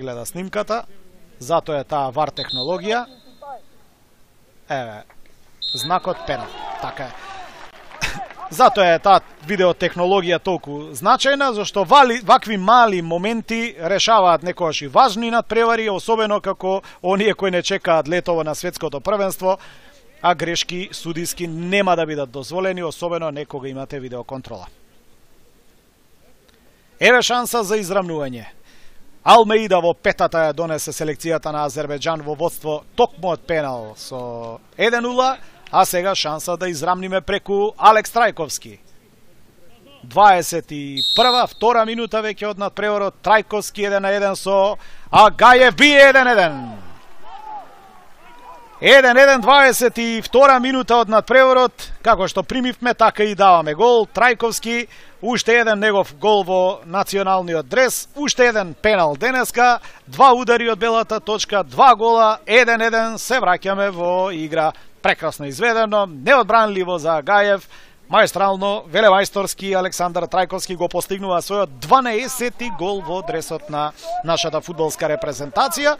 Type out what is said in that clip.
гледа снимката, затоа е таа VAR технологија. Еве, знакот пенал, така е. Затоа е таа видеотехнологија толку значајна, зашто вакви мали моменти решаваат некогаш и важни надпревари, особено како оние кои не чекаат летово на светското првенство, а грешки судиски нема да бидат дозволени, особено некога имате видеоконтрола. Еве шанса за израмнување. Алмеида во петата ја донесе селекцијата на Азербејџан во водство токму од пенал со 1-0, а сега шанса да израмниме преку Алекс Трајковски. 21-а, втора минута веќе од надпреварот, Трајковски 1-1 со Агајев бие 1-1. 1-1, 22 минута од надпреварот, како што примивме, така и даваме гол. Трајковски, уште еден негов гол во националниот дрес, уште еден пенал денеска, 2 удари од белата точка, 2 гола, 1-1, се враќаме во игра. Прекрасно изведено, неодбранливо за Агајев, маестрално, велемајсторски Александар Трајковски го постигнува својот 12-ти гол во дресот на нашата фудбалска репрезентација.